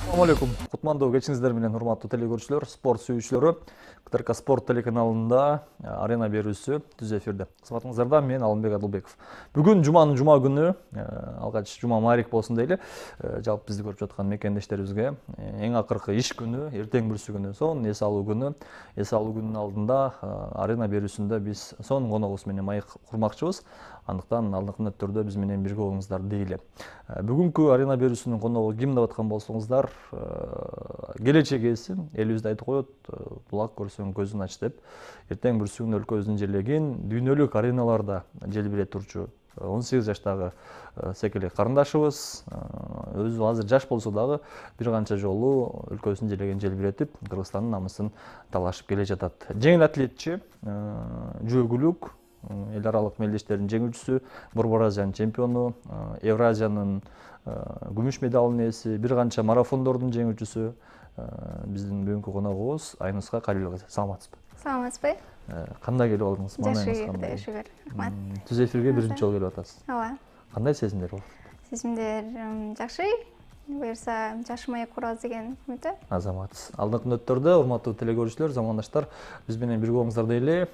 Assalamu alaikum. Кутмандуу кечиңиздер менен урматтуу телекөрүүчүлөр, спорт сүйүүчүлөрү. КТРК спорт телеканалында арена берүүсү түз эфирде. Кызматыңыздарда мен Алымбек Адылбеков. Бүгүн жуманын жума күнү, алгач жума маарик болсун дейли, жалпы бизди көрүп жаткан мекендештерибизге эң акыркы иш күнү, эртең бүрсү күнү, сонун эс алуу күнү. Эс алуу күнүнүн алдында арена берүүсүндө биз сонун коногубуз менен маек курмакчыбыз. Андыктан алдыңкы мүнөттөрдө биз менен бирге болуңуздар дейли. Бүгүнкү арена берүүсүнүн коногу ким деп аткан болсоңуздар, келечек ээси элибизде айтып коет, булак көрсөң көзүн ач деп. Эртең бүрсү күнү өлкөбүздүн жерлеген дүйнөлүк ареналарда желбире турчу 18 жаштагы секелек карындашыбыз, өзү азыр жаш болсо дагы бир канча жолу өлкөбүздүн жерлеген желбиретип, Кыргызстандын намысын талашып келе жатат. Жеңил атлетчи, жүгүрүлүк эл аралык мелдештердин жеңүүчүсү, Борбор Азиянын чемпиону, Евразиянын күмүш медалынын ээси, бир канча марафондордун жеңүүчүсү биздин бүгүнкү коногубуз Айнуска Калилова кызы. Саламатсызбы? Саламатсызбы? Кандай келип алдыңыз? Жакшы, шүгүр. Рахмат. Түз эфирге биринчи жолу келип атасыз. Ооба. Кандай сезимдер болот? Сезимдер жакшы. Буюрса жакшы маек курабыз деген үмүттө. Азамат. Алдыңкы мүнөттөрдө урматтуу телекөрүүчүлөр, замандаштар, биз менен бирге болуңуздар дейли.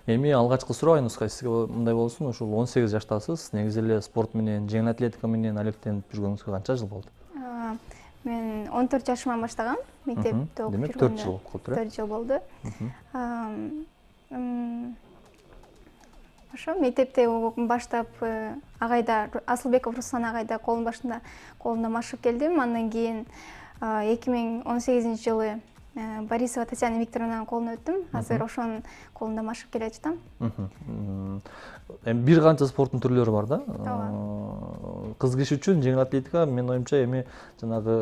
Эми алгачкы суроо Айнуска сизге мындай болсун, ушул 18 жаштасыз. Негизи эле спорт менен, жеңил атлетика менен алектенип жүргөнүңүзгө канча жыл болду? Мен 14 жашыман баштагам. Мектепте окуп жүргөндө. Демек 4 жыл болду. 4 жыл болду. Ошо мектепте баштап агайда Асылбеков Руслан агайда колунда машыгып келдим. Андан кийин 2018 жылы Борисова Татьяна Викторовнанын колуна өттүм. Азыр ошонун колунда машыгып келе жатам. Эми бир канча спорттун түрлөрү бар да. Кыз киши үчүн жеңил атлетика менин оюмча эми жанагы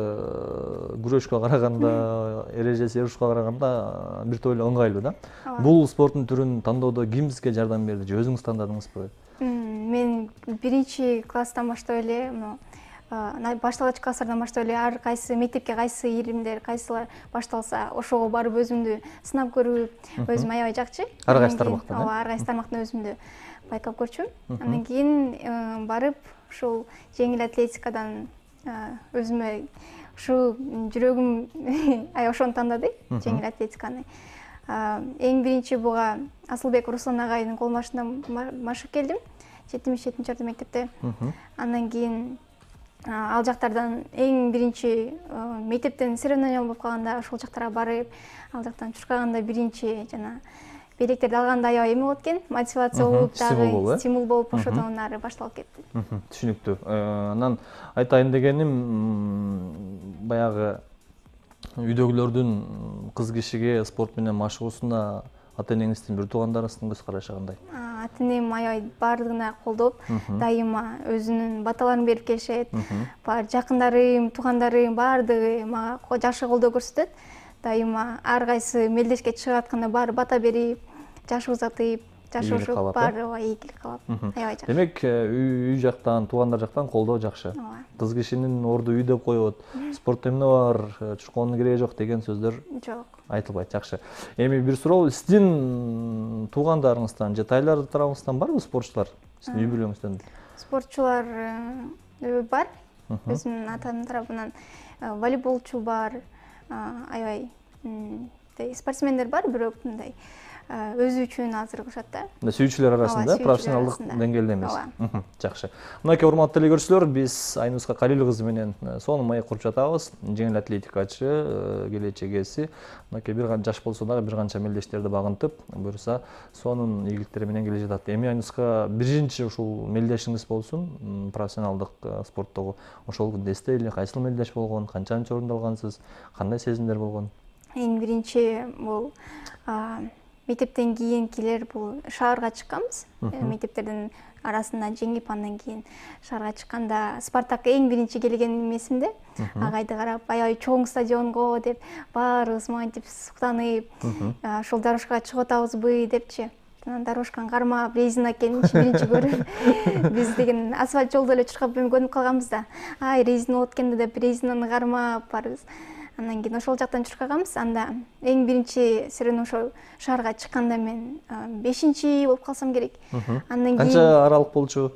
күрөшкө караганда, эрежеси урушка караганда бир тойло ыңгайлуу да. Бул спорттун түрүн тандоодо ким сизге жардам берди же өзүңүз тандадыңызбы? Мен биринчи класстан баштап эле башталгыч класстардан баштап эле ар кайсы мектепке кайсы иримдер, кайсылар башталса, ошого барып өзүмдү сынап көрүп, өзүм аябай жакчы. Ар кайсы тармактан. Ооба, ар кайсы тармактан өзүмдү байкап көрчүм. Андан кийин барып ушул жеңил атлетикадан өзүмө ушу жүрөгүм аябай ошону тандады, жеңил атлетиканы. Эң биринчи буга Асылбек Руслан агайдын кол башында машыгып келдим. 77-чи орто мектепте. Андан кийин ал жактардан эң биринчи мектептен соревнование болуп калганда ошол жактарга барып, ал жактан чуркаганда биринчи жана белектерди алганда аябай эме болот экен, мотивация болуп, дагы стимул болуп, ошодон ары башталып кетти. Түшүнүктүү. Анан айтайын дегеним, баягы үйдөгүлөрдүн кыз кишиге спорт менен машыгуусуна ата энеңиздин, бир туугандарыңыздын көз карашы кандай? Ата энем аябай баардыгына колдоп, дайыма өзүнүн баталарын берип келишет. Бар жакындарым, туугандарым баардыгы мага жакшы колдоо көрсөтөт. Дайыма ар кайсы мелдешке чыгып атканда баары бата берип, жаш узатып, жашошуп, баары ийгилик каалап, аябай жакшы. Демек, үй жактан, туугандар жактан колдоо жакшы. Кыз кишинин орду үй деп коет, спортто эмне бар, чуркоонун кереги жок деген сөздөр жок. Айтылбайт, жакшы. Эми бир суроо, сиздин туугандарыңыздан же тайлар тарабыңыздан барбы спортчулар? Сиздин үй бүлөңүздөн? Спортчулар бар. Өзүмдүн атамдын тарабынан волейболчу бар, аябай спортсмендер бар, бирок мындай өзү үчүн азыр кылышат да. Сүйүүчүлөр арасында, профессионалдык деңгээлде эмес. Жакшы. Мынакей урматтуу телекөрүүчүлөр, биз Айнуска Калилова кызы менен сонун маек куруп жатабыз. Жеңил атлетикачы, келечек ээси. Мынакей бир канча жаш болсо дагы бир канча мелдештерди багынтып, буюрса сонун ийгиликтери менен келе жатат. Эми Айнуска биринчи ушул мелдешиңиз болсун, профессионалдык спорттогу. Ошол күндө эстейли, кайсыл мелдеш болгон, канчанчы орунду алгансыз, кандай сезимдер болгон? Эң биринчи бул мектептен кийинкилер бул шаарга чыкканбыз. Мектептердин арасында жеңип, андан кийин шаарга чыкканда Спартак эң биринчи келген эмесимде. Агайды карап, аябай чоң стадионго деп, баарыбыз мынтип суктанып, ошол дорожкага чыгып атабызбы депчи. Анан дорожканы кармап, резина экенин биринчи көрүп, биз деген асфальт жолдо эле чуркап көнүп калганбыз да. Ай, резина болот экен деп резинаны кармап барыбыз. Андан кийин ошол жактан чуркаганбыз. Анда эң биринчи сырын ошол шаарга чыкканда мен 5-чи болуп калсам керек. Андан кийин канча аралык болчу?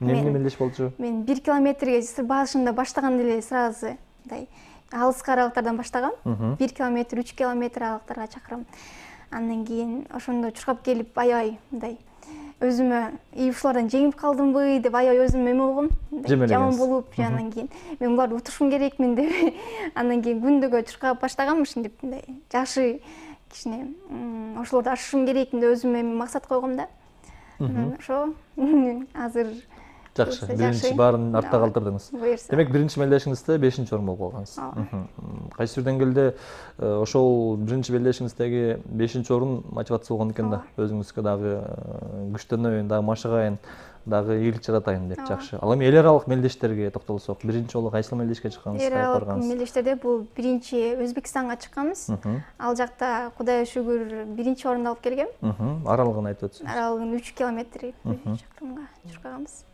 Эмне мелдеш болчу? Мен 1 километрге башында баштаганда эле сразу мындай алыскы аралыктардан баштагам. 1 километр, 3 километр аралыктарга чакырам. Андан кийин ошондо чуркап келип аябай мындай өзүмө ушулардан жеңип калдымбы деп аябай өзүм эме болгом. Жаман болуп, андан кийин мен буларды утушум керекмин деп андан кийин күндөгө чуркап баштагам ушинтип мындай жакшы кичине ошолорду ашышым керекмин деп өзүмө максат койгом да. Ошо азыр жакшы. Биринчи баарын артта калтырдыңыз. Демек, биринчи мелдешиңизде 5-орун болуп калгансыз. Кайсы бир деңгээлде ошол биринчи мелдешиңиздеги 5-орун мотивация болгон экен да. Өзүңүзгө дагы күчтөнөйүн, дагы машыгайын, дагы ийгилик жаратайын деп. Жакшы. Ал эми эл аралык мелдештерге токтолсок, биринчи жолу кайсы мелдешке чыккансыз? Эл аралык мелдештерде бул биринчи Өзбекстанга чыкканбыз. Ал жакта Кудайга шүгүр биринчи орунду алып келгем. Аралыгын айтып өтсөңүз. Аралыгын 3 километр чакырымга чуркаганбыз.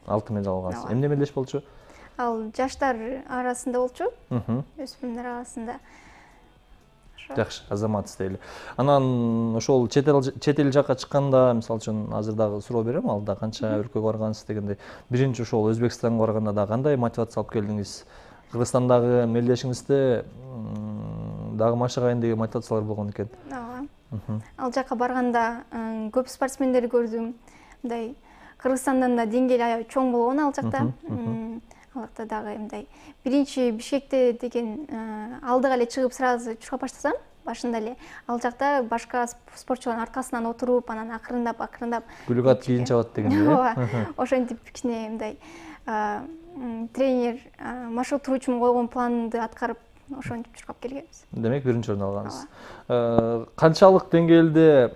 6 медаль алгансыз. Эмне мелдеш болчу? Ал жаштар арасында болчу. Өспүрүмдөр арасында. Жакшы, азаматсыз дейли. Анан ошол чет эл жакка чыкканда, мисалы үчүн азыр дагы суроо берем, алда канча өлкөгө баргансыз дегенде, биринчи ошол Өзбекстанга барганда да кандай мотивация алып келдиңиз? Кыргызстандагы мелдешиңизде дагы машыгайын деген мотивациялар болгон экен. Ооба. Ал жакка барганда көп спортсмендерди көрдүм. Мындай Кыргызстандан да деңгээли аябай чоң болгон ал жакта. Ал жакта дагы мындай биринчи Бишкекте деген алдыга эле чыгып сразу чуркап баштасам, башында эле ал жакта башка спортчулардын аркасынан отуруп, анан акырындап күлүк кийин чабат дегендей. Ооба. Ошентип кичине мындай тренер маршрут туруучумун койгон планды аткарып, ошентип чуркап келгенбиз. Демек, биринчи орун алгансыз. Канчалык деңгээлде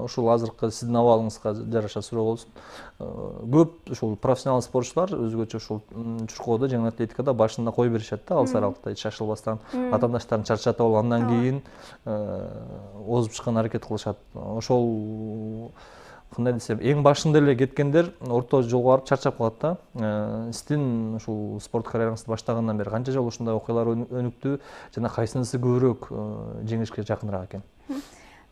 ушул азыркы сиздин абалыңызга жараша суроо болсун. Көп ушул профессионал спортчулар өзгөчө ушул чуркоодо, жеңил атлетикада башында кое беришет да, алыс аралыкта шашылбастан, атаандаштарын чарчатып алып, андан кийин озуп чыккан аракет кылышат. Ошол кандай десем, эң башында эле кеткендер орто жолго барып чарчап калат да. Сиздин ушул спорт карьераңызды баштагандан бери канча жолу ушундай окуялар өнүктү жана кайсынысы көбүрөөк жеңишке жакыныраак экен?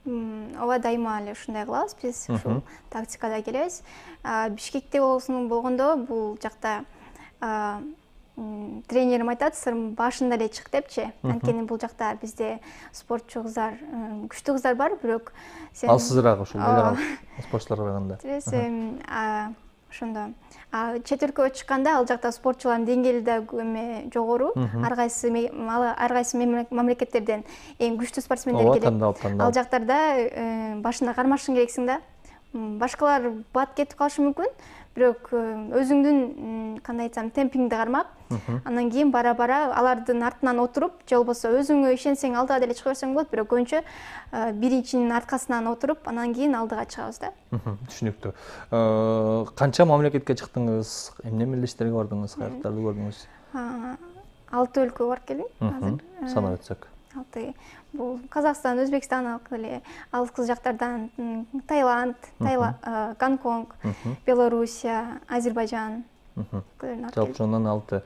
Ооба, дайыма эле ушундай кылабыз биз, ушул тактикада келебиз. Бишкекте болгондо бул жакта тренерим айтат, башында эле чык депчи. Анткени бул жакта бизде спортчу кыздар, күчтүү кыздар бар, бирок сен алсызыраак ушул эл аралык спортчуларга караганда. Ошондо чет өлкөгө чыкканда ал жакта спортчулардын деңгээли да жогору. Ар кайсы мамлекеттерден эң күчтүү спортсмендер келет. Ал жактарда башында кармашышың керексиң да. Башкалар бат кетип калышы мүмкүн, бирок өзүңдүн кандай айтсам темпиңди кармап, андан кийин бара-бара алардын артынан отуруп, же болбосо өзүңө ишенсең алдыга деле чыга берсең болот, бирок көбүнчө биринчинин аркасынан отуруп, андан кийин алдыга чыгабыз да. Түшүнүктүү. Канча мамлекетке чыктыңыз? Эмне мелдештерге бардыңыз? Каяктарды көрдүңүз? 6 өлкөгө барып келдим азыр. Санап өтсөк. 6. Бул Казакстан, Өзбекстан эле, алыскы жактардан Таиланд, Гонконг, Белоруссия, Азербайжан. Жалпы ошондон 6.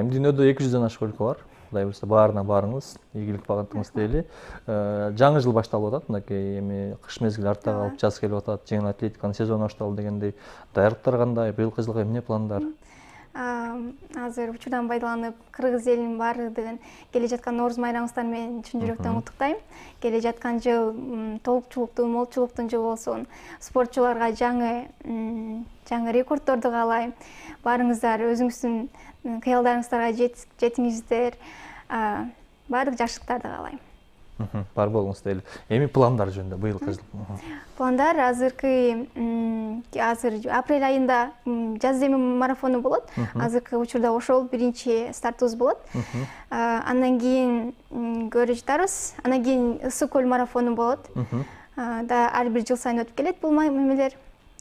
Эми дүйнөдө 200дөн ашык өлкө бар. Кудай буюрса баарына барыңыз, ийгилик багытыңыз дейли. Жаңы жыл башталып атат, мынакей эми кыш мезгили артта калып, жаз келип атат, жеңил атлетиканын сезону башталды дегендей. Даярдыктар кандай? Быйылкы жылга эмне пландар? Азыр учурдан пайдаланып, кыргыз элинин баардыгын келе жаткан Нооруз майрамыңыздар менен чын жүрөктөн куттуктайм. Келе жаткан жыл толукчулуктуу, молчулуктун жылы болсун. Спортчуларга жаңы рекорддорду каалайм. Баарыңыздар өзүңүздүн кыялдарыңыздарга жетиңиздер. Баардык жакшылыктарды каалайм. Бар болуңуз дейли. Эми пландар жөнүндө быйылкы жыл. Пландар азыр апрель айында жаз деми марафону болот. Азыркы учурда ошол биринчи стартыбыз болот. Андан кийин көрө жатабыз. Андан кийин Ысык көл марафону болот. Ар бир жыл сайын өтүп келет бул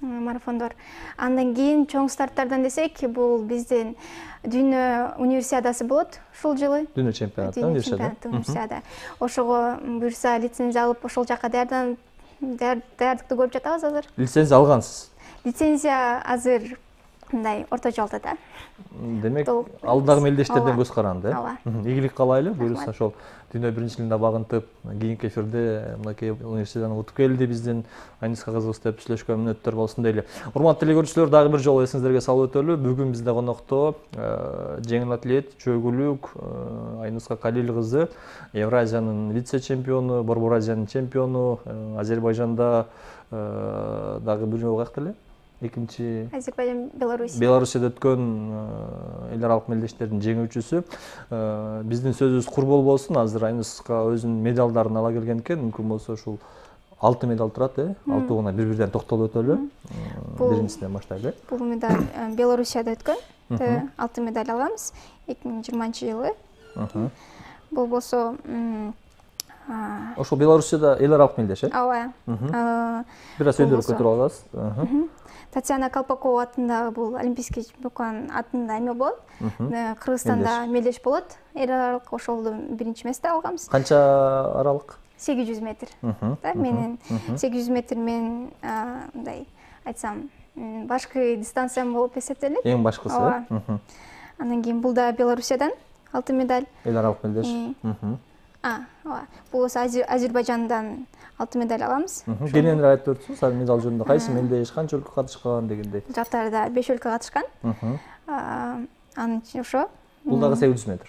марафондор. Андан кийин чоң старттардан десек, бул биздин дүйнө универсиадасы болот ушул жылы. Дүйнө чемпионаты, универсиада. Ошого буюрса лицензия алып, ошол жака даярдыкты көрүп жатабыз азыр. Лицензия алгансыз? Лицензия азыр мындай орто жолдо да. Демек Толук алдагы мелдештерден ооба. көз каранды. Ооба. Ийгилик каалайлы. Буюрса ошол дүйнө биринчилигине багынтып, кийинки эфирде мынакей университеттен утуп келди биздин Айниска кызыбыз деп сүйлөшкөн мүнөттөр болсун дейли. Урматтуу телекөрүүчүлөр, дагы бир жолу эсиңиздерге салып өтөлү. Бүгүн бизде конокто жеңил атлет, чөгүлүк Айниска Калил кызы, Евразиянын вице-чемпиону, Борбор Азиянын чемпиону, Азербайжанда дагы бир жолу каякта эле? Экинчи Азербайжан, Беларусь. Беларусияда өткөн эл аралык мелдештердин жеңүүчүсү. Биздин сөзүбүз кур болбосун. Азыр Айниска өзүнүн медалдарын ала келген экен. Мүмкүн болсо ушул 6 медаль турат, 6-уна бир-бирден токтолуп өтөлү. Биринчисинен баштайлы. Бул медаль Белоруссияда өткөн. 6 медаль алганбыз 2020-жылы. Бул болсо ошол Белоруссияда эл аралык мелдеш, ооба. Бир аз өйдөрүп көтөрүп аласыз. Татьяна Колпакова атындагы бул олимпийский чемпион атында эме болот. Кыргызстанда мелдеш болот. Эл аралык ошолду биринчи месте алганбыз. Канча аралык? 800 метр. Да, менин 800 метр мен мындай айтсам, башкы дистанциям болуп эсептелет. Эң башкысы. Андан кийин бул да Белоруссиядан 6 медаль. Эл аралык мелдеш. Ооба. Бул Азербайжандан 6 медаль алабыз. Кененирээк айтып өтсүңүз, ал медаль жөнүндө кайсы мелдеш, канча өлкө катышкан дегендей. Бул жактарда 5 өлкө катышкан. Анын ошо. Бул дагы 800 метр.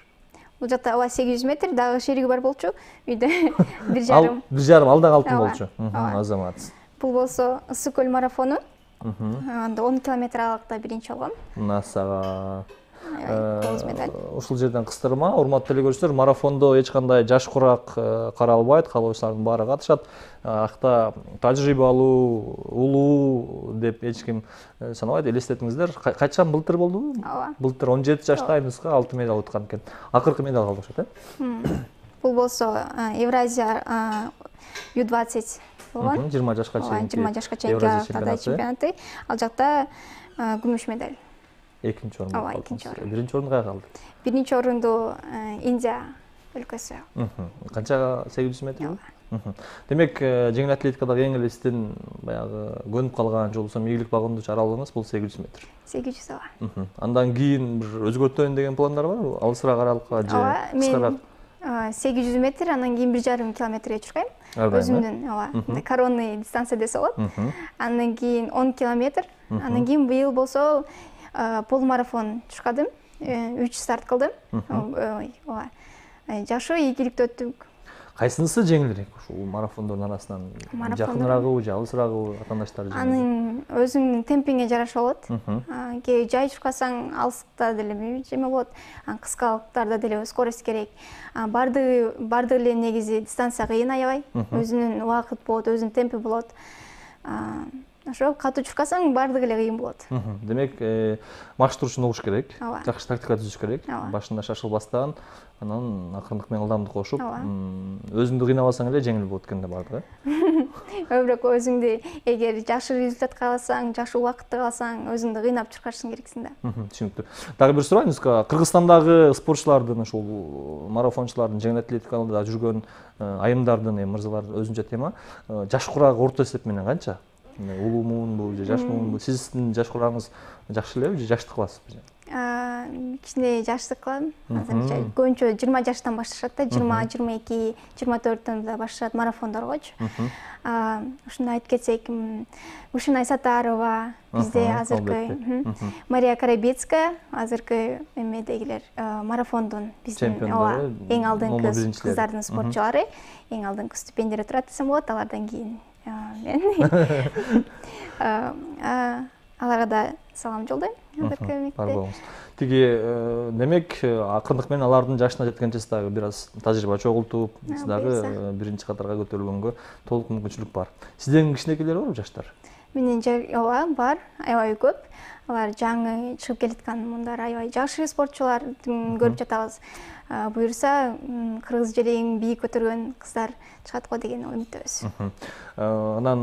Бул жакта 800 метр, дагы шериги бар болчу. Үйдө 1,5. 1,5, ал дагы алтын болчу. Азамат. Бул болсо Ысык көл марафону. Анда 10 километр аралыкта биринчи болгом. Насага. 9 медаль. Ушул жерден кыстырма, урматтуу телекөрүүчүлөр, марафондо эч кандай жаш курак каралбайт, каалоочулардын баары катышат. Акта тажрыйбалуу, улуу деп эч ким санабайт. Элестетиңиздер, качан былтыр болдубу? Ооба. Былтыр 17 жашта Айниска 6 медаль уткан экен. Акыркы медаль алды окшойт, Бул болсо Евразия U20 болгон. 20 жашка чейинки. 20 жашка чейинки чемпионаты. Ал жакта күмүш медаль. Экинчи орун. Ооба, экинчи орун. Биринчи орун каяка алды? Биринчи орунду Индия өлкөсү. Канча 800 метр? Демек, жеңил атлетикадагы эң эле сиздин баягы көнүп калган же болбосо ийгилик багындырчу аралыгыңыз бул 800 метр. 800 ооба. Андан кийин бир өзгөртөйүн деген пландар барбы? Алысыраак аралыкка же кыскараак? 800 метр, андан кийин 1,5 километрге чуркайм. Өзүмдүн ооба, коронный дистанция десе болот. Андан кийин 10 километр. Андан кийин быйыл болсо полумарафон чуркадым. 3 старт кылдым. Ооба. Жакшы ийгиликтүү өттүк. Кайсынысы жеңилирээк ушул марафондордун арасынан? Жакыныраагыбы же алысыраагыбы атаандаштар жеңил? Анын өзүңдүн темпиңе жараша болот. Кээ жай чуркасаң алыскта деле эме болот. Кыскалыктарда деле скорость керек. Бардыгы эле негизи дистанция кыйын аябай. Өзүнүн убакыт болот, өзүнүн темпи болот. Ошо катуу чуркасаң бардыгы эле кыйын болот. Демек, маршрутун угуш керек, жакшы тактика түзүш керек. Башында шашылбастан, анан акырындык менен ылдамдык кошуп, өзүңдү кыйнабасаң эле жеңил болот экен да бардыгы. Бирок өзүңдү эгер жакшы результат кааласаң, жакшы убакытты кааласаң, өзүңдү кыйнап чуркашың керексиң да. Түшүнүктүү. Дагы бир суроо, Айниска, Кыргызстандагы спортчулардын, ушул марафончулардын, жеңил атлетикада жүргөн айымдардын, мырзалар өзүнчө тема, жаш курагы орто эсеп менен канча? Улуумунбу же жашмуунбу? Сиздин жаш курагыңыз жакшы элеби же жаштык кыласызбы? Кичине жаштык кылам. Азырынча көбүнчө 20 жаштан башташат да, 20, 22, 24төн да башташат марафондоргочу. Ушуну айтып кетсек, Ушунай Сатарова бизде азыркы, Мария Карабецкая азыркы эмедегилер марафондун биздин эң алдыңкы кыздардын спортчулары, эң алдыңкы стипендияда турат десем болот. Алардан кийин аларга да салам жолдойм. Бар болуңуз. Тиги демек, акырындык менен алардын жашына жеткенче дагы бир аз тажрыйба чогултуп, дагы биринчи катарга көтөрүлгөнгө толук мүмкүнчүлүк бар. Сиздердин кичинекейлер барбы, жаштар? Менин ооба бар, аябай көп. Алар жаңы чыгып келаткан мындар аябай жакшы спортчулардын көрүп жатабыз. Буюрса, кыргыз жерин бийик көтөргөн кыздар чыгат го деген үмүттөбүз. Анан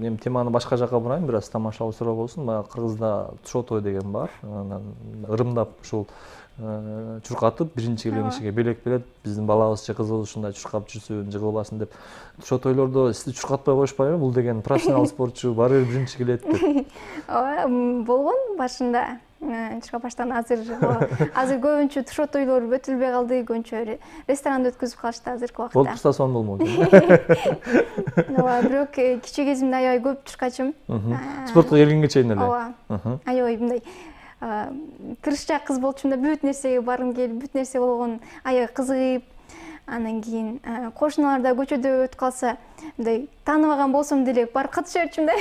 мен теманы башка жакка бурайын, бир аз тамашалуу суроо болсун. Кыргызда шоо той деген бар. Анан ырымдап ушул чуркатып, биринчи келгенчиге белек берет. Биздин балабыз же кызыбыз ушундай чуркап жүрсүн, жыгылбасын деп. Шоо тойлордо сизди чуркатпай коюшпайбы? Бул деген профессионал спортчу баары бир биринчи келет деп. Ооба, болгон башында. Чыга баштаган азыр көбүнчө туш тойлор өтүлбөй калды, көбүнчө ресторанда өткөзүп калышты азыркы убакта. Болуп турса сонун болмок. Ооба, бирок кичи кезимде аябай көп чуркачым. Спортко келгенге чейин эле. Ооба. Аябай мындай тырышчаак кыз болчумда, бүт нерсеге баргым келип, бүт нерсе болгон аябай кызыгып, анан кийин кошуналарда көчөдө өтүп калса, мындай тааныбаган болсом деле барып катыша берчүм да.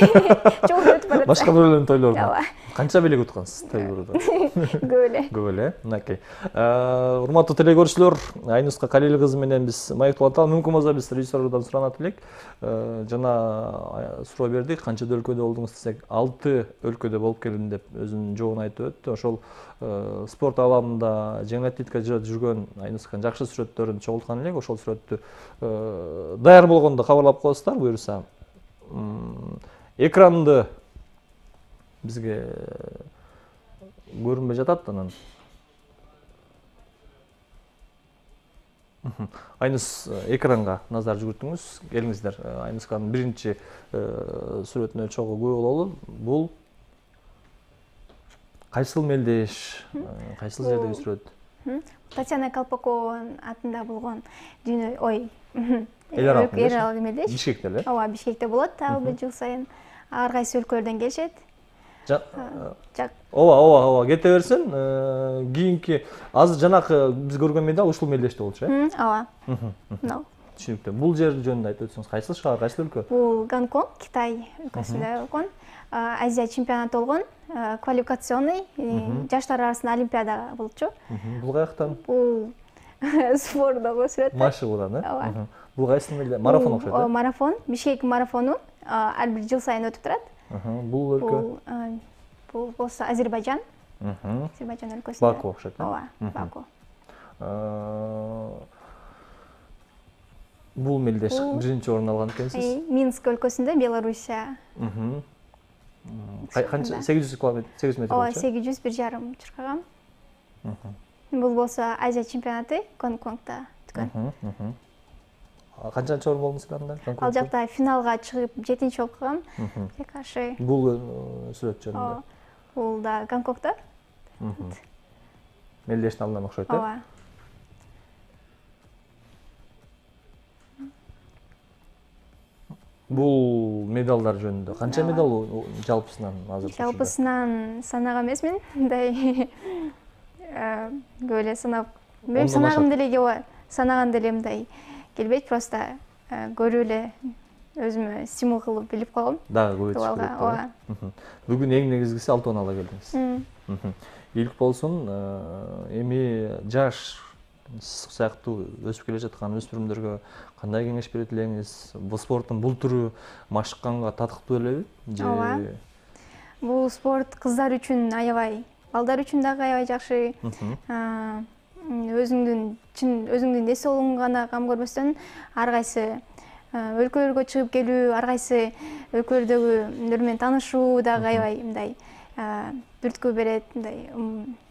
Жолдо өтүп барат. Башка бирөөлөрдүн тойлоруна. Ооба. Канча белек уткансыз тойлордо? Көп эле. Көп эле. Мынакей. Урматтуу телегөрүүчүлөр, Айнуска Калил кызы менен биз маектеп аталы. Мүмкүн болсо биз режиссердон суранат элек. Жана суроо бердик, канча өлкөдө болдуңуз десек, 6 өлкөдө болуп келдим деп өзүнүн жообун айтып өттү. Ошол спорт аламында жеңил атлетикада жүргөн Айнусканын жакшы сүрөттөрүн чогулткан элек. Ошол сүрөттү даяр болгондо кабарлап коесуздар, буюрса. Экранды бизге көрүнбөй жатат анан. Айнус, экранга назар жүгүртүңүз. Келиңиздер. Айнусканын биринчи сүрөтүнө чогуу күбө бололу. Бул кайсыл мелдеш, кайсыл жердеги сүрөт? Татьяна Колпакованын атында болгон дүйнө, Эл аралык мелдеш. Бишкекте эле? Ооба, Бишкекте болот, ар бир жыл сайын. Ар кайсы өлкөлөрдөн келишет. Ооба, кете берсин. Кийинки азыр жанакы биз көргөн медаль ушул мелдеште болчу, э? Ооба. Мынау. Түшүнүктүү. Бул жер жөнүндө айтып өтсөңүз, кайсыл шаар, кайсыл өлкө? Бул Гонконг, Китай өлкөсүндө болгон. Азия чемпионаты болгон, квалификационный, жаштар арасында олимпиада болчу. Бул каяктан? Бул спордогу сүрөт. Машыгуудан, э? Ооба. Бул кайсы мелде? Марафон окшойт, э? Марафон, Бишкек марафону ар бир жыл сайын өтүп турат. Бул өлкө? Бул болсо Азербайжан. Азербайжан өлкөсүндө. Баку окшойт, э? Ооба, Баку. Бул мелдеш биринчи орун алган экенсиз. Минск өлкөсүндө, Белоруссия. Канча 800 км, 800 метр Ооба, болчу. 800 1 жарым чуркагам. Бул болсо Азия чемпионаты Гонконгдо өткөн. Канчанчы орун болдуңуз анда? Ал жакта финалга чыгып 7-чи болуп калгам. Каршы. Бул сүрөт жөнүндө. Бул да Гонконгдо. Мелдештин алдынан окшойт, э? Ооба. Бул медалдар жөнүндө канча медал жалпысынан азыр? Жалпысынан санаган эмесмин. Мындай көп эле санап, мен санагым деле келбейт. Санаган деле мындай келбейт, просто көрүп эле өзүмө стимул кылып билип койгом. Дагы көбөйтүш керек. Ооба. Бүгүн эң негизгиси алтын ала келдиңиз. Ийгилик болсун. Эми жаш сыяктуу өсүп келе жаткан өспүрүмдөргө кандай кеңеш берет элеңиз? Бул спорттун бул түрү машыкканга татыктуу элеби? Ооба. Бул спорт кыздар үчүн аябай, балдар үчүн дагы аябай жакшы. Өзүңдүн дес соолугуңга гана кам көрбөстөн, ар кайсы өлкөлөргө чыгып келүү, ар кайсы өлкөлөрдөгүлөр менен таанышуу дагы аябай мындай түрткү берет, мындай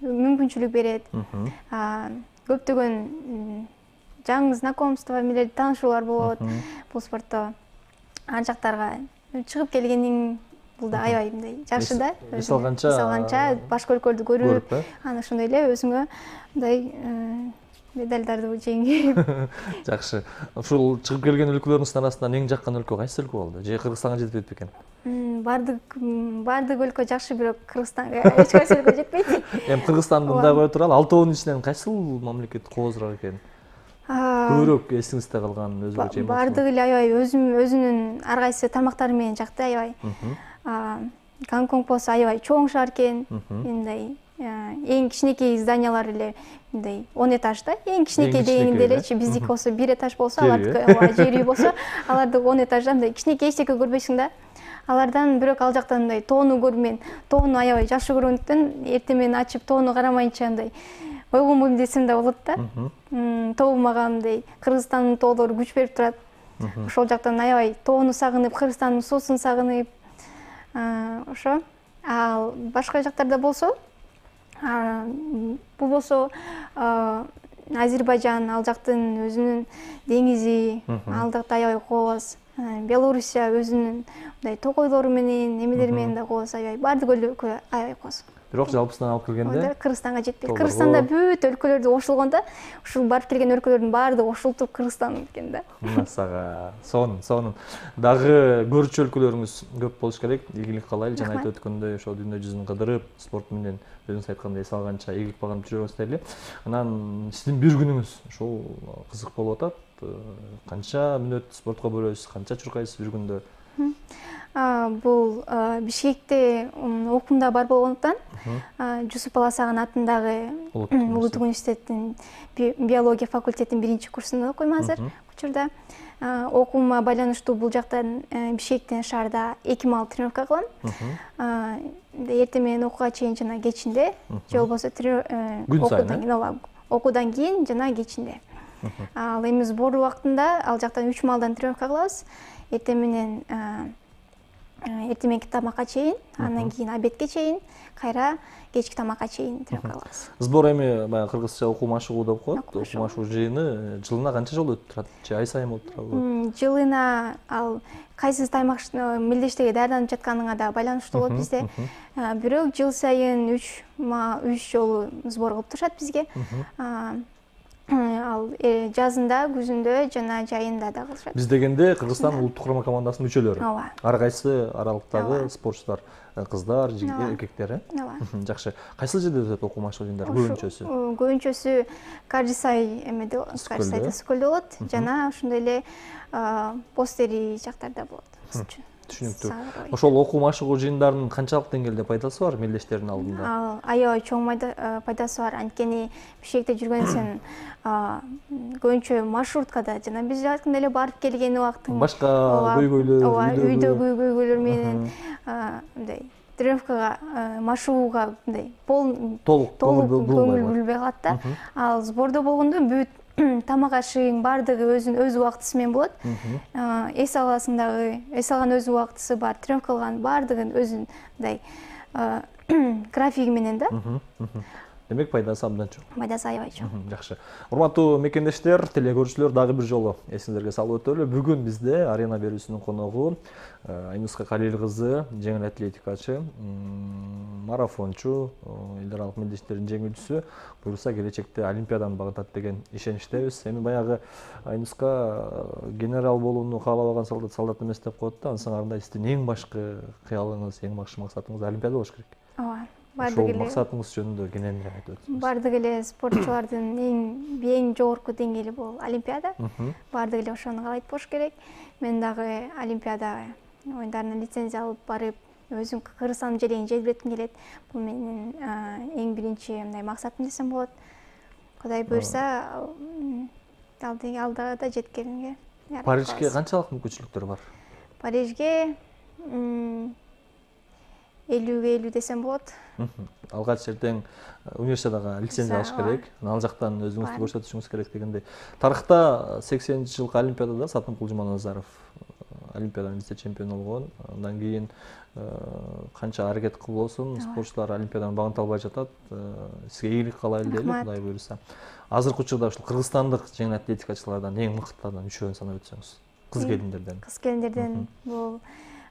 мүмкүнчүлүк берет. Көптөгөн жаңы знакомство менен таанышуулар болот бул спортто. Ар жактарга чыгып келгениң бул да аябай мындай жакшы да. Эс алганча башка өлкөлөрдү көрүп, анан ошондой эле өзүңө мындай медалдарды жеңип. Жакшы. Ушул чыгып келген өлкөлөрүңүздүн арасынан эң жаккан өлкө кайсы өлкө болду? Же Кыргызстанга жетпейт бекен? Бардык өлкө жакшы, бирок Кыргызстанга эч кайсы өлкө жетпейт. Эми Кыргызстанды мындай кое туралы, 6 ичинен кайсыл мамлекет коозураак экен? Көбүрөөк эсиңизде калган өзгөчө эмоция? Бардыгы эле аябай өзүнүн ар кайсы тамактары менен жакты, аябай. Гонконг болсо аябай чоң шаар экен. Мындай эң кичинекей зданиялар эле мындай 10 этаж да. Эң кичинекей дегенде элечи, биздики болсо 1 этаж болсо, алардыкы жер үй болсо, алардык 10 этажда мындай кичинекей эчтеке көрбөйсүң да. Алардан бирок ал жактан мындай тоону көрүп, мен тоону аябай жакшы көргөндүктөн эртең менен ачып тоону карамайынча мындай ойгонбойм десем да болот да. Тоо мага мындай Кыргызстандын тоолору күч берип турат. Ошол жактан аябай тоону сагынып, Кыргызстандын суусун сагынып, ошо. Ал башка жактарда болсо, бул болсо Азербайжан, ал жактын өзүнүн деңизи, ал жакта аябай кооз. Белоруссия өзүнүн мындай токойлору менен эмелери менен да кооз аябай баардык өлкө аябай кооз. Бирок жалпысынан алып келгенде Кыргызстанга жетпейт. Кыргызстанда бүт өлкөлөрдү кошулгондо ушул барып келген өлкөлөрдүн баардыгы кошулуп Кыргызстан экен да. Мына сага сонун. Дагы көрчү өлкөлөрүңүз көп болуш керек. Ийгилик каалайлы. Жана айтып өткөндөй ошо дүйнө жүзүн кыдырып, спорт менен өзүңүз айткандай эс алганча ийгилик багынып жүрө берсели. Анан сиздин бир күнүңүз ушул кызык болуп атат. Канча мүнөт спортко бөлөсүз, канча чуркайсыз бир күндө? Бул Бишкекте окуумда бар болгондуктан Жусуп Баласаган атындагы Улуттук университеттин биология факультетинин 1-курсунда окуйм азыр учурда. Окуума байланыштуу бул жактан Бишкектен шаарда 2 маал тренировка кылам. Эртең менен окууга чейин жана кечинде, же болбосо окуудан кийин жана кечинде. Ал эми сбор убактында ал жактан 3 маалдан тренировка кылабыз. Эртең мененки тамакка чейин, андан кийин обедке чейин, кайра кечки тамакка чейин тренировка кылабыз. Сбор эми баягы кыргызча окуу машыгуу деп коет. Окуу машыгуу жыйыны жылына канча жолу өтүп турат? Же ай сайын болуп турабы? Жылына ал кайсы таймак мелдештеге даярданып жатканыңа да байланыштуу болот бизде. Бирок жыл сайын 3 жолу сбор кылып турушат бизге. Ал жазында, күзүндө жана жайында да кылышат. Биз дегенде Кыргызстан улуттук курама командасынын мүчөлөрү. Ар кайсы аралыктагы спортчулар, кыздар, эркектер. Жакшы. Кайсы жерде өтөт окуу машыгуу жыйындары көбүнчөсү? Көбүнчөсү Кардисай эмеде, Кардисайда Скөлдө болот жана ошондой эле Постери жактарда болот. Түшүнүктүү. Ошол окуу машыгуу жыйындарынын канчалык деңгээлде пайдасы бар мелдештердин алдында? Аябай чоң пайдасы бар. Анткени Бишкекте жүргөн сен көбүнчө маршруткада жана биз айткандай эле барып келген убактың башка көйгөйлөр, үйдөгү көйгөйлөр менен мындай тренировкага, машыгууга мындай толук көңүл бурулбай калат да. Ал сбордо болгондо бүт тамак ашыгың баардыгы өзүнүн өз убактысы менен болот. Эс алган өз убактысы бар, тренировка кылган баардыгын өзүнүн мындай графиги менен да. Демек пайдасы абдан чоң. Пайдасы аябай чоң. Жакшы. Урматтуу мекендештер, телекөрүүчүлөр, дагы бир жолу эсиңизерге салып өтөлү. Бүгүн бизде Арена берүүсүнүн коногу Айнуска Калил кызы, жеңил атлетикачы, марафончу, эл аралык мелдештердин жеңүүчүсү, буюрса келечекте олимпиаданы багытат деген ишеничтебиз. Эми баягы Айнуска генерал болууну каалабаган солдат эмес деп коет да. Анысы кандай сиздин эң башкы кыялыңыз, эң башкы максатыңыз олимпиада болуш керек. Ооба. Ошол максатыңыз жөнүндө кененирээк айтып өтсөңүз. Баардык эле спортчулардын эң жогорку деңгээли бул олимпиада. Баардык эле ошону каалайт болуш керек. Мен дагы олимпиада оюндарына лицензия алып барып, өзүм Кыргызстандын желегин желбиретким келет. Бул менин эң биринчи мындай максатым десем болот. Кудай буйрса, алда да жеткенге. Парижге канчалык мүмкүнчүлүктөр бар? Парижге 50-50 десем болот. Алгач эртең универсиадага лицензия алыш керек. Ал жактан өзүңүздү көрсөтүшүңүз керек дегендей. Тарыхта 80-жылкы олимпиадада Сатынкул Жуманазаров олимпиаданын вице-чемпиону болгон. Андан кийин канча аракет кылбосун, спортчулар олимпиаданы багынта албай жатат. Сизге ийгилик каалайлы дейли, Кудай буйрса. Азыркы учурда ушул кыргызстандык жеңил атлетикачылардан эң мыктылардан үчөөнү санап өтсөңүз. Кыз келиндерден. Кыз келиндерден бул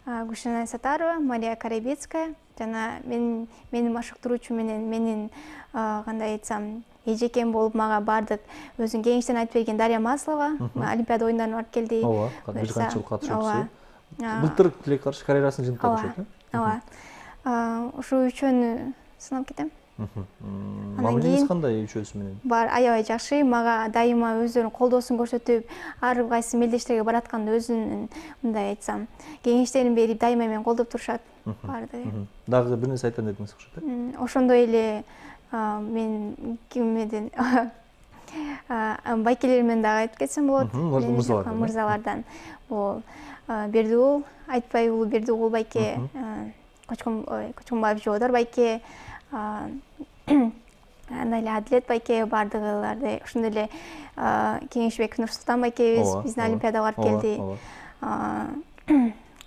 Гүлшенай Сатарова, Мария Карабецкая жана мени машыктыруучу менин кандай айтсам, эжекем болуп мага баардык өзүнүн кеңештен айтып берген Дарья Маслова олимпиада оюндарына барып келди. Ооба, бир канча жыл катышуучусу. Былтыр тилек каршы карьерасын жыйынтык болушат, ооба. Ушул үчөөнү сынап кетем. Мамилеңиз кандай үчөөсү менен? Бар, аябай жакшы. Мага дайыма өздөрүнүн колдоосун көрсөтүп, ар кайсы мелдештерге баратканда өзүнүн мындай айтсам, кеңештерин берип, дайыма мени колдоп турушат. Баардыгы. Дагы бир нерсе айтам дедиңиз окшойт, э? Ошондой эле мен кимден байкелермен дагы айтып кетсем болот. Мырзалардан. Бул Бердиул, Айтпай уулу Бердиул байке, Кочконбаев Жоодор байке, андай эле Адилет байке, баардыгыларды ошондой эле Кеңешбеков Нурсултан байкебиз биздин олимпиадага барып келди.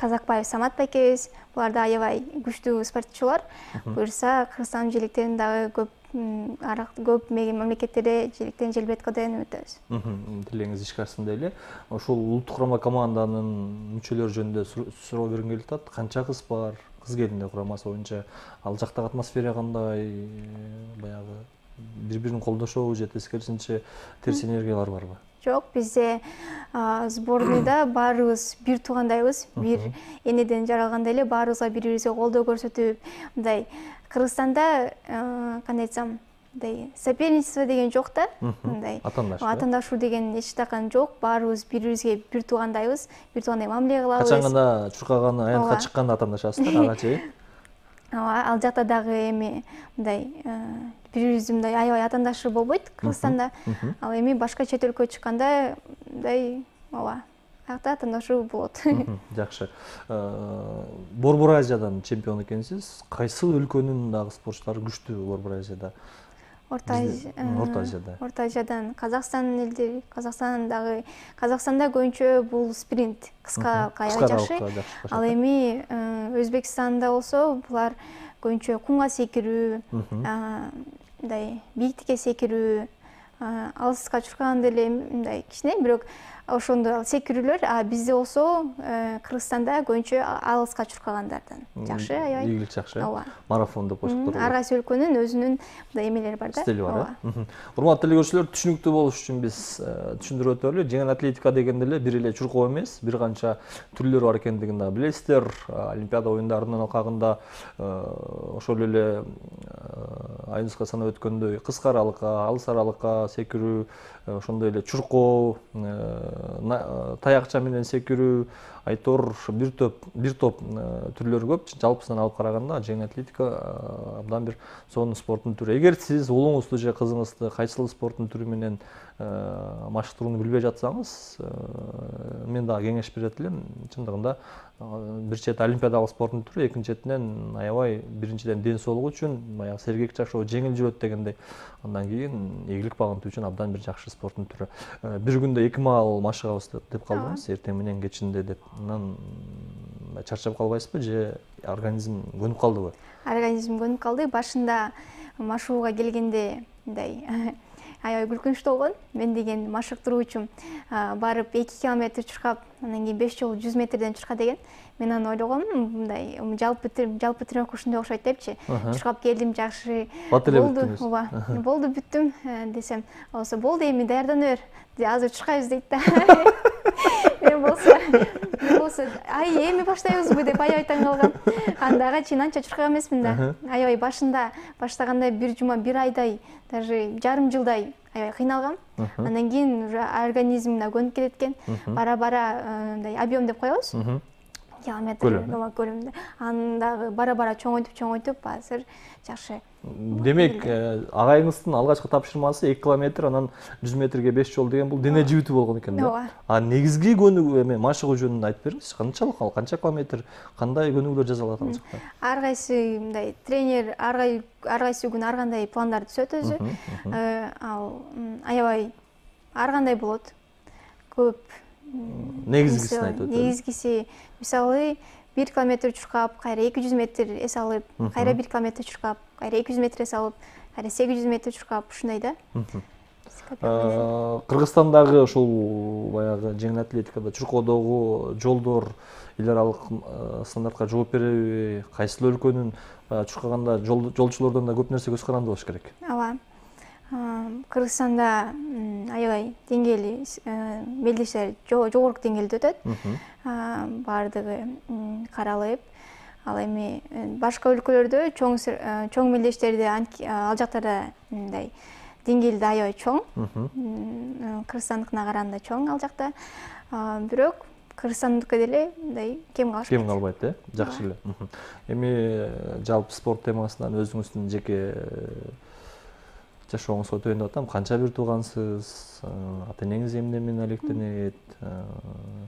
Казакбаев Самат байкебиз. Булар да аябай күчтүү спортчулар. Буюрса Кыргызстандын желектерин дагы көп мамлекеттерде желектен желбеткө деген үмүттөбүз. Тилеңиз ишке ашсын дейли. Ошол улуттук курама команданын мүчөлөрү жөнүндө суроо бергим келип атат. Канча кыз бар? Кыз келиндер курамасы боюнча ал жактагы атмосфера кандай? Баягы бири-бирин колдошобу же тескерисинче терс энергиялар барбы? Жок, бизде сборныйда баарыбыз бир туугандайбыз. Бир энеден жаралгандай эле баарыбызга бири-бирибизге колдоо көрсөтүп, мындай Кыргызстанда кандай айтсам, мындай соперничество деген жок да. Мындай атаандашуу деген эч такан жок. Баарыбыз бири-бирибизге бир туугандайбыз, бир туугандай мамиле кылабыз. Качан гана чуркаганы, аянтка чыкканда атаандашасыздар, ага чейин. Ал жакта дагы эми мындай бири-бирибизди мындай аябай атаандашы болбойт Кыргызстанда. Ал эми башка чет өлкөгө чыкканда мындай аяқта атаандашуу болот. Жакшы. Борбор Азиядан чемпион экенсиз. Кайсы өлкөнүн дагы спортчулары күчтүү Борбор Азияда? Орто Азияда. Орто Азиядан Казакстан элдери, Казакстанда көбүнчө бул спринт, кыска аябай жакшы. Ал эми Өзбекстанда болсо булар көбүнчө кумга секирүү, мындай бийиктикке секирүү, алыска чуркаганда эле мындай кичине, бирок ошондо секирүүлөр, а бизде болсо Кыргызстанда көбүнчө алыска чуркагандардан жакшы, аябай. Ийгилик жакшы. Марафон деп коюштук. Ар кайсы өлкөнүн өзүнүн мындай эмелери бар да. Стили бар. Урматтуу телекөрүүчүлөр, түшүнүктүү болуш үчүн биз түшүндүрүп өтөлү. Жеңил атлетика дегенде эле бир эле чуркоо эмес, бир канча түрлөрү бар экендигин да билесиздер. Олимпиада оюндарынын алкагында ошол эле айыбызга санап өткөндөй кыска аралыкка, алыс аралыкка секирүү, ошондой эле чуркоо, таякча менен секирүү, айтор бир топ түрлөрү көп. Жалпысынан алып караганда жеңил атлетика абдан бир сонун спорттун түрү. Эгер сиз уулуңузду же кызыңызды кайсыл спорттун түрү менен машыктырууну билбей жатсаңыз, мен дагы кеңеш берет элем. Чындыгында бир чет олимпиадалык спорттун түрү, экинчи четинен аябай биринчиден ден соолук үчүн, баягы сергек жашоо, жеңил жүрөт дегендей. Андан кийин ийгилик багынтуу үчүн абдан бир жакшы спорттун түрү. Бир күндө 2 маал машыгабыз деп калдыңыз, эртең менен кечинде деп. Анан чарчап калбайсызбы же организм көнүп калдыбы? Организм көнүп калды. Башында машыгууга келгенде мындай аябай күлкүнчтүү болгон. Мен деген машыктыруучум барып 2 километр чуркап, андан кийин 5 жолу 100 метрден чурка деген. Мен аны ойлогом, мындай жалпы тренировка ушундай окшойт депчи. Чуркап келдим, жакшы болду. Болду, бүттүм десем, болсо болду, эми даярдана бер. Азыр чуркайбыз дейт да. Мен болсо, ай эми баштайбызбы деп аябай таң калгам. Андага чейин анча чуркаган эмесмин да. Аябай башында баштаганда бир жума, бир айдай, даже жарым жылдай аябай кыйналгам. Андан кийин уже организм да көнүп кетет экен. Бара-бара мындай объем деп коебуз. Километр көлөмүндө. Андагы бара-бара чоңойтуп азыр жакшы. Демек, агайыңыздын алгачкы тапшырмасы 2 километр, анан 100 метрге 5 жол деген бул дене жибитүү болгон экен да. А негизги көнүгүү эме машыгуу жөнүндө айтып бериңизчи. Канчалык ал, канча километр, кандай көнүгүүлөр жасалат ал жакта? Ар кайсы мындай тренер ар кайсы күнү ар кандай пландар түзөт өзү. Ал аябай ар кандай болот. Көп негизгисин айтып өтөлү. Негизгиси мисалы 1 километр чуркап, кайра 200 метр эс алып, кайра 1 километр чуркап, кайра 200 метр эс алып, кайра 800 метр чуркап, ушундай да. Кыргызстандагы ушул баягы жеңил атлетикада чуркоодогу жолдор эл аралык стандартка жооп береби? Кайсыл өлкөнүн чуркаганда жолчулордон да көп нерсе көз каранды болуш керек? Ооба. Кыргызстанда аябай деңгээли мелдештер жогорку деңгээлде өтөт. Бардыгы каралып, ал эми башка өлкөлөрдө чоң мелдештерде ал жактарда мындай деңгээлде аябай чоң. Кыргызстандыкына караганда чоң ал жакта. Бирок Кыргызстандыкы деле мындай кем калышпайт. Кем калбайт, жакшы эле. Эми жалпы спорт темасынан өзүңүздүн жеке жашооңузга өтөйүн деп атам. Канча бир туугансыз, ата энеңиз эмне менен алектенет,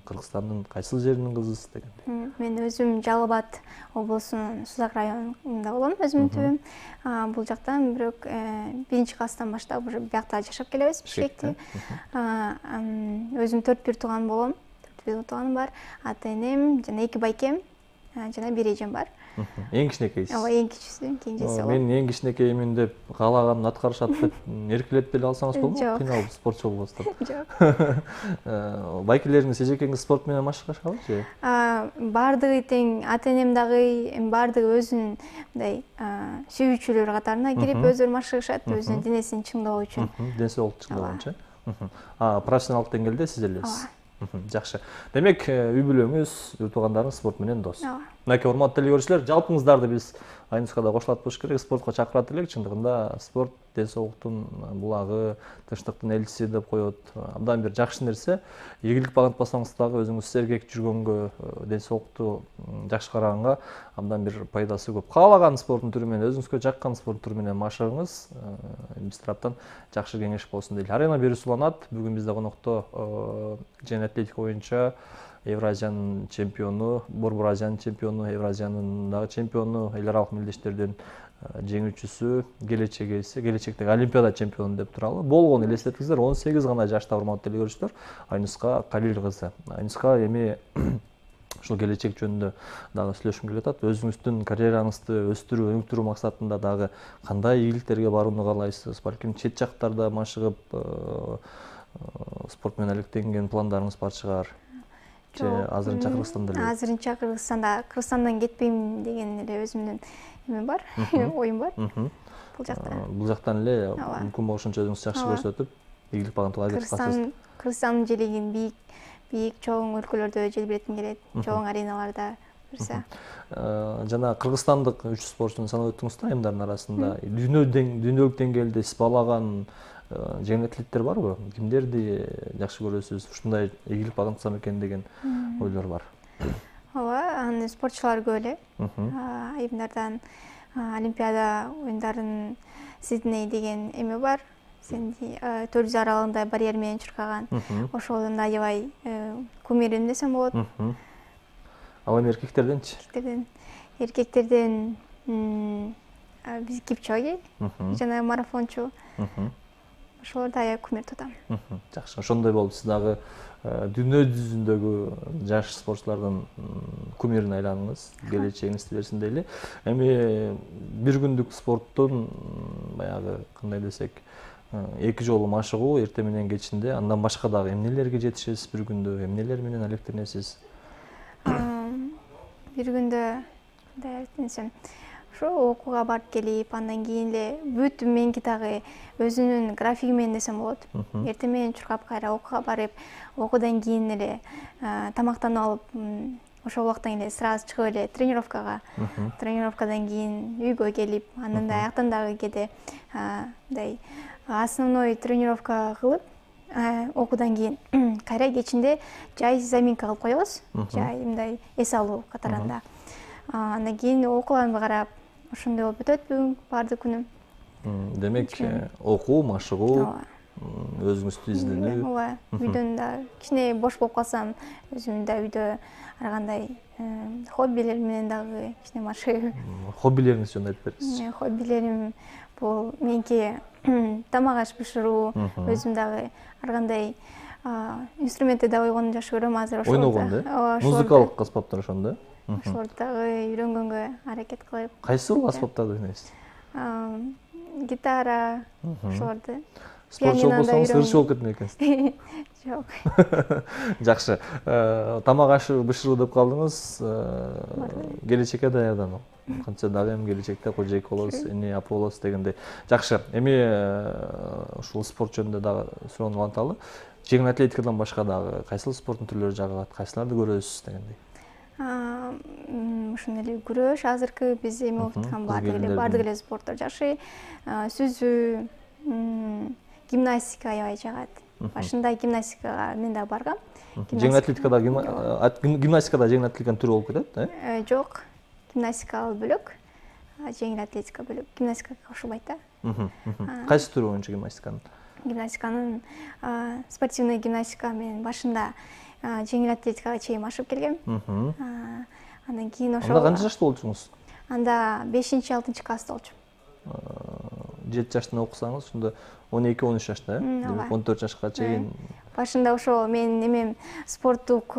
Кыргызстандын кайсыл жеринин кызысыз дегендей. Мен өзүм Жалал Абад облусунун Сузак районунда болом, өзүмдүн түбүм. Бул жактан бирок 1-класстан баштап уже биякта жашап келебиз, Бишкекте. Өзүм 4 тууган болом. тууганым бар, ата энем жана 2 байкем жана 1 эжем бар. Эң кичинекейсиз. Ооба, эң кичүүсү, кенжеси. Мен эң кичинекеймин деп каалаганын аткарышат деп эркелеп деле алсаңыз болобу? Кыйналып спортчу болбостон. Жок. Байкелериңиз эжекеңиз спорт менен машыгышабы же? Бардыгы тең, ата энем дагы бардыгы өзүнүн мындай сүйүүчүлөр катарына кирип өздөрү машыгышат, өзүнүн денесин чыңдоо үчүн. Ден соолукту чыңдоо үчүн. Профессионалдык деңгээлде сиз элесиз. Жакшы. Демек, үй бүлөңүз, үй туугандарыңыз спорт менен дос. Мынакей урматтуу телекөрүүчүлөр, жалпыңыздарды биз Айнускада кошулат болуш керек, спортко чакырат элек. Чындыгында спорт ден соолуктун булагы, тынчтыктын элчиси деп коет. Абдан бир жакшы нерсе. Ийгилик багынтпасаңыз дагы өзүңүз сергек жүргөнгө, ден соолукту жакшы караганга абдан бир пайдасы көп. Каалаган спорттун түрү менен, өзүңүзгө жаккан спорт түрү менен машыгыңыз. Биз тараптан жакшы кеңеш болсун дейли. Арена берүүсү уланат. Бүгүн бизде конокто жеңил атлетика боюнча Евразиянын чемпиону, Борбор Азиянын чемпиону, Евразиянын дагы чемпиону, эл аралык мелдештердин жеңүүчүсү, келечектеги Олимпиада чемпиону деп туралы. Болгону элестетиңиздер, 18 гана жашта урматтуу телекөрүүчүлөр, Айнуска Калил кызы. Айнуска эми ушул келечек жөнүндө дагы сүйлөшкүм келип атат. Өзүңүздүн карьераңызды өстүрүү, өнүктүрүү максатында дагы кандай ийгиликтерге барууну каалайсыз? Балким чет жактарда машыгып спорт менен алектенген пландарыңыз бар чыгар. Же азырынча Кыргызстанда эле? Азырынча Кыргызстандан кетпейм деген эле өзүмдүн эме бар, оюм бар. Бул жакта. Бул жактан эле мүмкүн болушунча өзүңүз жакшы көрсөтүп, ийгилик багынтууга аракет кыласыз. Кыргызстандын желегин бийик чоң өлкөлөрдө желбиретким келет, чоң ареналарда жүрсө. Жана кыргызстандык 3 спортчуну санап өттүңүз да айымдардын арасында. Дүйнөлүк деңгээлде сиз баалаган жеңил атлеттер барбы? Кимдерди жакшы көрөсүз? Ушундай ийгилик багынтсам экен деген ойлор бар. Ооба, анын спортчулары көп эле. Айымдардан Олимпиада оюндарын Сидней деген эме бар. 400 аралыгында барьер менен чуркаган. Ошолдон да аябай кумирим десем болот. Ал эми эркектерденчи? Эркектерден биз Кипчоги жана марафончу. Ошолорду аябай кумир тутам. Жакшы. Ошондой болуп сиз дагы дүйнө жүзүндөгү жаш спортчулардын кумирине айланыңыз, келечегиңизди берсин дейли. Эми бир күндүк спорттун баягы кандай десек, 2 жолу машыгуу эртең менен кечинде, андан башка дагы эмнелерге жетишесиз бир күндө, эмнелер менен алектенесиз? Бир күндө кандай десем, ошо окууга барып келип, андан кийин эле бүт меники дагы өзүнүн графиги менен десем болот. Эртең менен чуркап кайра окууга барып, окуудан кийин эле тамактанып алып, ошол убактан эле сразу чыгып эле тренировкага. Тренировкадан кийин үйгө келип, андан да аяктан дагы кээде мындай основной тренировка кылып, окуудан кийин кайра кечинде жай заминка кылып коебуз. Жай мындай эс алуу катарында. Андан кийин окууларымды карап, ошондой болуп өтөт бүгүн баардык күнүм. Демек, окуу, машыгуу, өзүңүздү изденүү. Ооба, үйдөн да кичине бош болуп калсам, өзүм да үйдө ар кандай хоббилер менен дагы кичине машыгып. Хоббилериңизди жөнүндө айтып бериңизчи. Хоббилерим бул меники тамак аш бышыруу, өзүм дагы ар кандай инструментти да ойгонду жакшы көрөм азыр ошолорду. Ойногонду? Музыкалык аспаптар ошондо? Ошолорду дагы үйрөнгөнгө аракет кылып. Кайсы аспаптарды ойнойсуз? Гитара, ошолорду. Спортчу болсоңуз ырчы болуп кетмек экенсиз. Жок. Жакшы. Тамак аш бышыруу деп калдыңыз. Келечекке даярдануу. Кантсе дагы эми келечекте кожоек болосуз, эне апа болосуз дегендей. Жакшы. Эми ушул спорт жөнүндө дагы суроону уланталы. Жеңил атлетикадан башка дагы кайсыл спорттун түрлөрү жагат, кайсыларды көрөсүз дегендей. Ошондой эле күрөш, азыркы биз эми окуп аткан баардык эле спорттор жакшы. Сүзүү, гимнастика аябай жагат. Башында гимнастикага мен да баргам. Жеңил атлетикада гимнастикада жеңил атлетиканын түрү болуп кетет, Жок. Гимнастика бөлөк, жеңил атлетика бөлөк. Гимнастикага кошулбайт да. Кайсы түрү боюнча гимнастиканын? Гимнастиканын спортивный гимнастика менен башында жеңил атлетикага чейин машыгып келгем. Андан кийин ошол. Анда канча жашта болчуңуз? Анда 5-6 класста болчумун. 7 жаштан окусаңыз, ошондо 12-13 жашта, демек 14 жашка чейин башында ошол менин эмем спорттук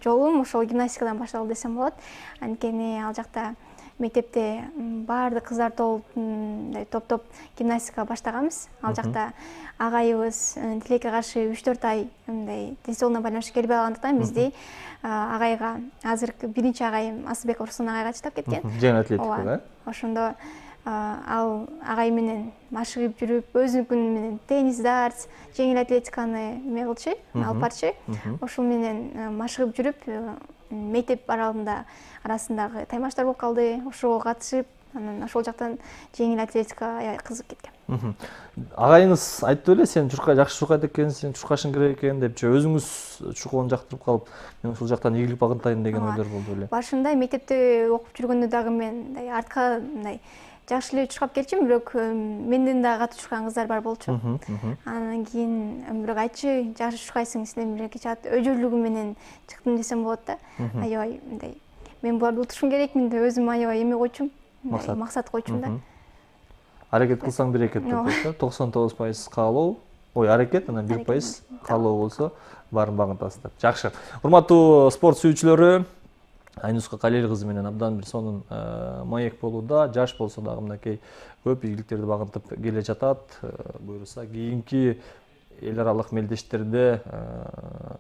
жолум ошол гимнастикадан башталды десем болот. Анткени ал жакта мектепте баардык кыздар топ гимнастика баштаганбыз. Ал жакта агайыбыз тилекке каршы 3-4 ай мындай тенсиондон байланыштуу келбей калгандыктан бизди агайга, азыркы биринчи агайым Асылбеков Руслан агайга чыдап кеткен. Жеңил атлетикага. Ошондо ал агай менен машыгып жүрүп, өзүнүн менен теннис, дартс, жеңил атлетиканы эме кылчу, алып барчу. Ошол менен машыгып жүрүп, мектеп арасындагы таймаштар болуп калды. Ошого катышып, анан ошол жактан жеңил атлетикага аябай кызыгып кеткем. Агайыңыз айтты беле, сен жакшы чуркайт экенсиң, чуркашың керек экен деп, же өзүңүз чуркоону жактырып калып, мен ушул жактан ийгилик багынтайын деген ойлор болду беле? Башында мектепте окуп жүргөндө дагы мен мындай артка мындай жакшы эле чуркап келчүмүн, бирок менден дагы катуу чуркаган кыздар бар болчу. Анан кийин бирок айтчу, жакшы чуркайсың, сенден бир чат өжөлүгүм менен чыктым десем болот да. Аябай мындай мен буларды утушум керекмин деп өзүм аябай эме койчумун, максат койчумун да. Аракет кылсаң берекет деп коет да. 99% каалоо, аракет, анан 1% каалоо болсо баарын багынтасыз деп. Жакшы. Урматтуу спорт сүйүүчүлөрү, Айнуска Калел кызы менен абдан бир сонун маек болууда. Жаш болсо дагы мынакей көп ийгиликтерди багынтып келе жатат. Буюрса кийинки эл аралык мелдештерде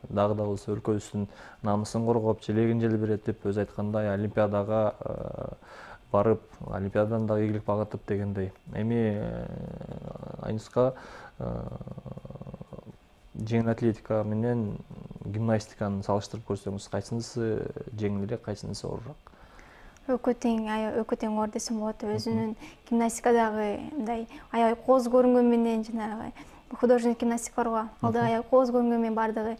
дагы да болсо өлкөбүздүн намысын коргоп, желегин желбирет деп өзү айткандай олимпиадага барып, олимпиададан дагы ийгилик багынтып дегендей. Эми Айнуска жеңил атлетика менен гимнастиканы салыштырып көрсөңүз, кайсынысы жеңилирээк, кайсынысы оорураак? Экөө тең оор десем болот. Өзүнүн гимнастикадагы мындай аябай кооз көрүнгөн менен жанагы художественный гимнастика барго, ал да аябай кооз көрүнгөн менен бардыгы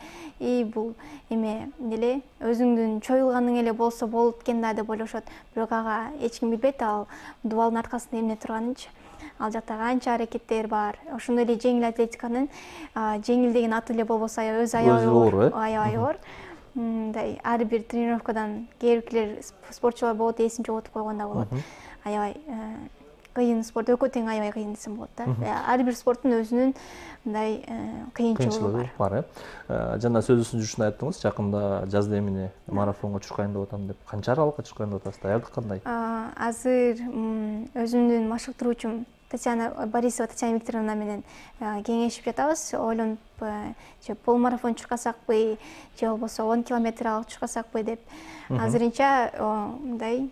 бул эме деле өзүңдүн чоюлганың эле болсо болот экен да деп ойлошот. Бирок ага эч ким билбейт, ал дубалдын аркасында эмне турганынчы. Ал жакта канча аракеттер бар. Ошондой эле жеңил атлетиканын жеңил деген аты эле болбосо өзү аябай оор. Мындай ар бир тренировкадан кээ биркилер спортчулар болот, эсин жоготуп койгондо болот. Аябай кыйын спорт, экөө тең аябай кыйын десем болот да. Ар бир спорттун өзүнүн мындай кыйынчылыгы бар. Жана сөзүбүздүн жүрүшүндө айттыңыз, жакында жазда эмне марафонго чуркайын деп атам деп. Канча аралыкка чуркайын деп атасыз? Даярдык кандай? Азыр өзүмдүн машыктыруучум Борисова Татьяна Викторовна менен кеңешип жатабыз. Ойлонуп, же полумарафон чуркасакпы, же болбосо 10 километр алып чуркасакпы деп. Азырынча мындай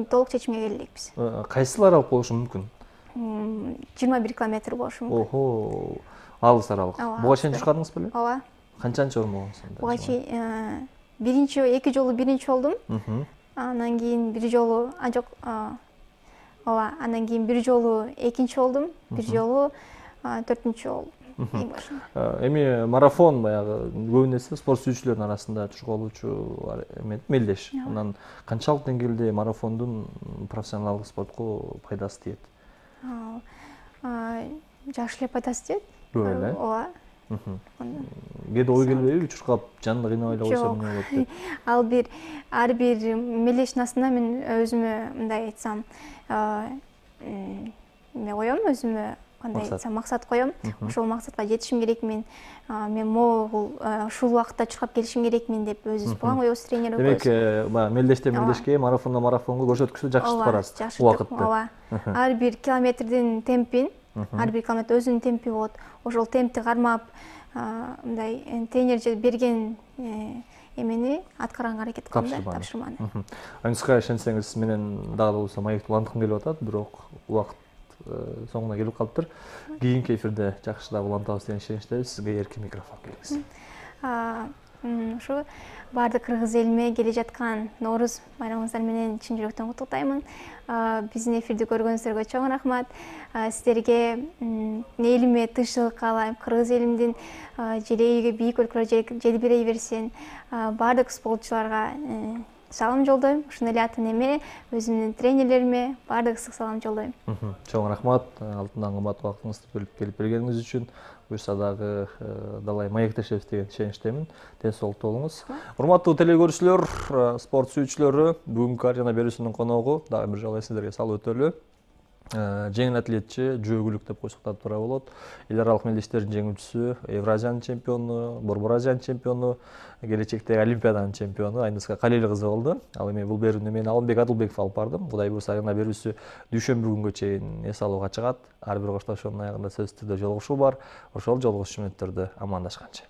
толук чечимге келелекпиз. Кайсыл аралык болушу мүмкүн? 21 километр болушу мүмкүн. Охо, алыс аралык. Буга чейин чуркадыңыз беле? Ооба. Канчанчы орун болгонсуң? Буга чейин эки жолу биринчи болдум. Анан кийин бир жолу анан кийин бир жолу экинчи болдум, бир жолу төртүнчү болдум. Эми марафон баягы көбүнесе спорт сүйүүчүлөрдүн арасында чуркоолуучу мелдеш. Анан канчалык деңгээлде марафондун профессионалдык спортко пайдасы тиет? Жакшы эле пайдасы тиет. Көп эле? Ооба. Кээде ой келбейби, чуркап жанында кыйнабай эле койсом эмне болот деп? Ар бир мелдештин астына мен өзүмө мындай айтсам эме коем, өзүмө кандай айтсам максат коем. Ошол максатка жетишим керекмин. Мен могул ушул убакытта чуркап келишим керекмин деп өзүбүз план коебуз, тренер коебуз. Демек, мелдештен мелдешке, марафондон марафонго көрсөткүчтү жакшыртып барасыз убакытты. Ооба. Ар бир километрдин темпин, ар бир километр өзүнүн темпи болот. Ошол темпти кармап, мындай тренер берген эмени аткарганга аракет кылам да, тапшырманы. Айнуска, ишенсеңиз, менен дагы болсо маекти уланткым келип атат, бирок убакыт соңуна келип калыптыр. Кийинки эфирде жакшыраак улантабыз деген ишеничтебиз. Сизге эркин микрофон келиңиз. Ушу баардык кыргыз элиме келе жаткан Нооруз байрамыңыздар менен чын жүрөктөн куттуктаймын. Биздин эфирди көргөнүңүздөргө чоң рахмат. Сиздерге элиме тынччылык каалайм. Кыргыз элимдин желеги бийик өлкөлөр желбирей берсин. Баардык спортчуларга салам жолдойм. Ошондой эле ата энеме, өзүмдүн тренерлериме баардык ысык салам жолдойм. Чоң рахмат алтындан кымбат убактыңызды бөлүп келип бергениңиз үчүн. Буюрса дагы далай маектешебиз деген ишеничтемин. Ден соолуктуу болуңуз. Урматтуу телекөрүүчүлөр, спорт сүйүүчүлөрү, бүгүнкү арена берүүсүнүн коногу дагы бир жолу эсиңиздерге салып өтөлү. жеңил атлетчи жөөгүлүк деп койсок да туура болот. Эл аралык мелдештердин жеңүүчүсү, Евразиянын чемпиону, Борбор Азиянын чемпиону, келечектеги Олимпиаданын чемпиону Айныска Калиел кызы болду. Ал эми бул берүүнү мен Алымбек Адылбеков алып бардым. Кудай буюрса арена берүүсү дүйшөмбү күнгө чейин эс алууга чыгат. Ар бир коштошуунун аягында сөзсүз түрдө жолугушуу бар. Ошол жолугушуу менен амандашканча.